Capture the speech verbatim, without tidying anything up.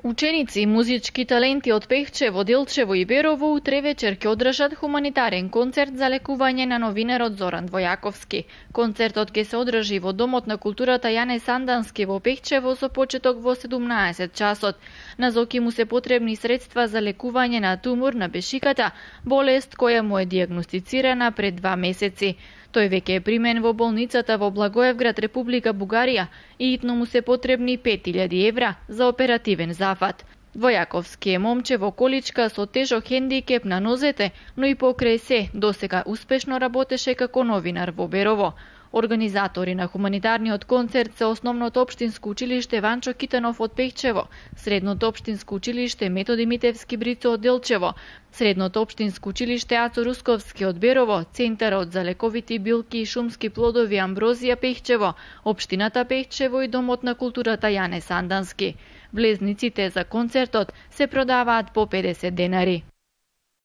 Ученици и музички таленти од Пехчево, Делчево и Берово утре вечер ќе одржат хуманитарен концерт за лекување на новинарот Зоран Војаковски. Концертот ќе се одржи во Домот на културата Јане Сандански во Пехчево со почеток во седумнаесет часот. На Зоки му се потребни средства за лекување на тумор на бешиката, болест која му е дијагностицирана пред два месеци. Тој веќе е примен во болницата во Благоевград, Република Бугарија, и итно му се потребни пет илјади евра за оперативен зафат. Војаковски е момче во количка со тежок хендикеп на нозете, но и покрај се досега успешно работеше како новинар во Берово. Организатори на хуманитарниот концерт се Основното општинско училиште Ванчо Китанов од Пехчево, Средното општинско училиште Методи Митевски Брицо од Делчево, Средното општинско училиште Ацо Русковски од Берово, Центарот за лековити билки и шумски плодови Амброзија Пехчево, Општината Пехчево и Домот на културата Јане Сандански. Влезниците за концертот се продаваат по педесет денари.